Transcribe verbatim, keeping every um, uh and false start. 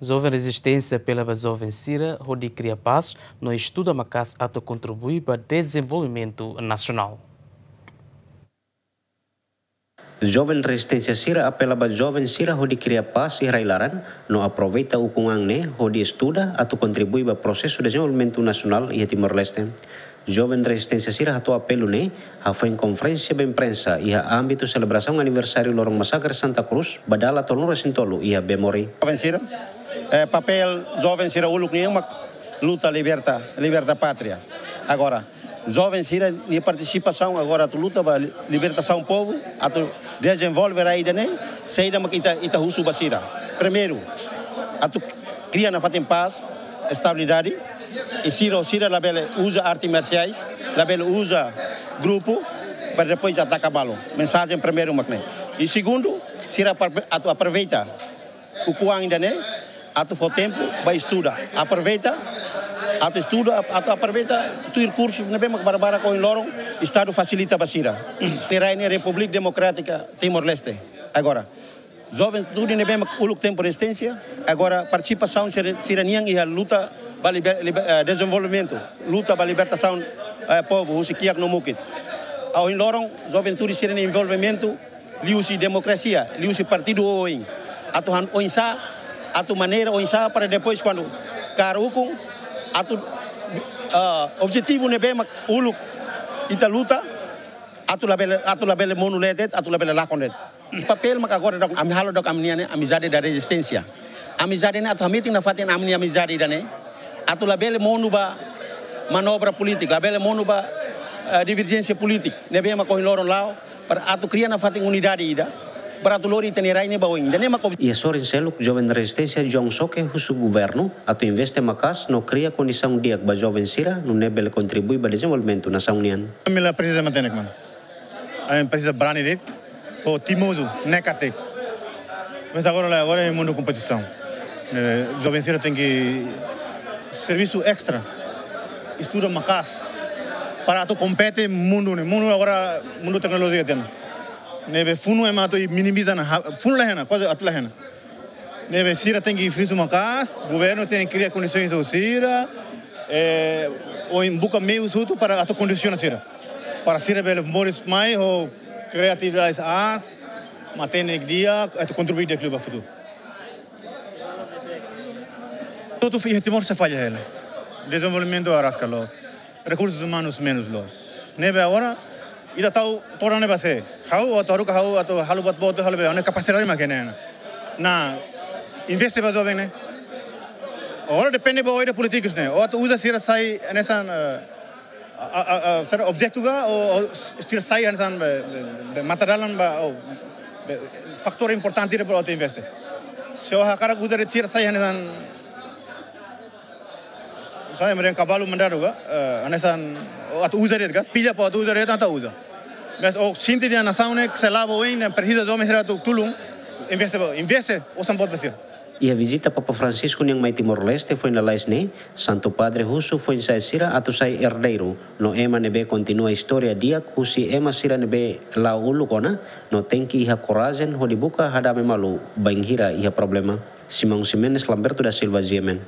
Joven Rezisténsia apela ba joven sira hodi kria pás no estuda maka'as atu kontribui ba dezenvolvimentu nasionál. Joven Rezisténsia sira apela ba joven sira hodi kria pás iha rai-laran no aproveita ukun-an ne'e hodi estuda atu kontribui ba prosesu dezenvolvimentu nasionál iha Timor-Leste. Joven Rezisténsia sira hato'o apelu ne'e hafoin konferénsia ba imprensa iha ámbitu selebrasaun aniversáriu loron masakre Santa Cruz ba dala tolunulu-resin-tolu iha Bemori. Joven sira, eh, papél joven sira uluk nian mak luta liberta, liberta pátria. Agora, joven sira-nia partisipasaun agora atu luta ba li-, libertasaun povu, atu dezenvolve rai ida-ne'e, saida mak ita, ita husu ba sira. Primeiru, atu kria nafatin pás, estabilidade, i sira, sira labele uza arte marsiais, labele uza grupu, para depois ataka balu. Mensajen primeiru mak ne'e. I segundu, sira apro-, atu aproveita ukun-an ida-ne'e, atu fó tempu ba estuda. Aproveita, atu estuda, atu aproveita tuir kursu ne'ebé mak barbarak ohin loron Estadu fasilita ba sira. Nia rai ne'e Repúblika Demokrátika Timor-Leste. Agora, juventude ne'ebé mak uluk tempu rezisténsia, agora partisipasaun sira, sira-nian iha luta ba liber-, liber-, eh, dezenvolvimentu, luta ba libertasaun, eh, povu husi kiak no mukit. Ohin loron, juventude sira-nia envolvimentu liuhusi demokrasia, liuhusi partidu oioin. Atu han oinsá, atu maneira oinsá para depois kuandu kaer ukun, atu, ah, objetivu ne'ebé mak uluk ita luta, atu labele, atu labele monu de'it, atu labele lakon de'it. Papél mak agora daudaun ami halo daudaun ami-nia ne'e, amizade da rezisténsia. Amizade ne'e atu hametin nafatin ami-nia amizade ida-ne'e. Atu labele monu ba manobra polítika, labele monu ba, eh, diverjénsia polítika. Ne'ebé mak ohin loron la'o, para atu kria nafatin unidade ida, para atu lori ita-nia rai ne'e ba oin. Ida-ne'e mak ob- Iha sorin seluk, joven rezisténsia John Soke husu governu atu investe maka'as no kria kondisaun di'ak ba joven sira nune'e bele kontribui ba dezenvolvimentu nasaun nian. Ami la presiza matenek, mano. Ami presiza brani de'it, ho timozu, ne'e karik. Mas agora la, agora é mundu kompetisaun. Eh, joven sira tenke servisu estra, estuda maka'as, para atu kompete mundu ne'e. Mundu agora, mundu teknolojia tiha ona. Ne'ebé funu ema atu minimiza ona, ha-, funu la iha ona, kuaze atu la iha ona. Ne'ebé sira tenke servisu maka'as, governu tenke kria kondisoens ba sira, eh, ou buka meius hotu para atu kondisiona sira. Para sira bele moris mai ho kriatividade aas, matenek di'ak, atu kontribui di'ak liu ba futuru. Hotu iha Timor sei falla hela. Dezenvolvimentu araska loos. Rekursus umanus menus loos. Ne'ebé agora, ita tau todan ne'e ba sé. Ha'u, atu haruka ha'u, atu halo buat boot, halo be, ne'e kapasidade mak ne'e. Ne'e investe ba joven ne'e. Agora depende ba oida polítikus ne'e. Ou atu uza sira sai, hanesan, eh, a, a, a, sira objetu ka, ou, ou sira sai hanesan be, be, be matadalan ba, ou be fatór importante ida para atu investe. Se ó hakarak uza de'it sira sai hanesan, sai, meren kavalu mandadu ka, eh, hanesan, ou atu uza de'it ka, pilla para atu uza de'it, atu uza. Mas ó sente dehan nasaun ne'e sei la'o ba oin, ne'e presiza joven sira atu tulun, investe ba, investe, osan boot ba sira. Iha vizita Papa Francisco nian mai Timor-Leste foin lalais ne'e, Santu Padre husu foin-sa'e sira atu sai erdeiru, no ema ne'ebé kontinua istória di'ak husi ema sira ne'ebé la'o uluk ona, no tenke iha korajen hodi buka hadame malu bainhira iha problema. Simão Ximenes, Lamberto da Silva, G M N.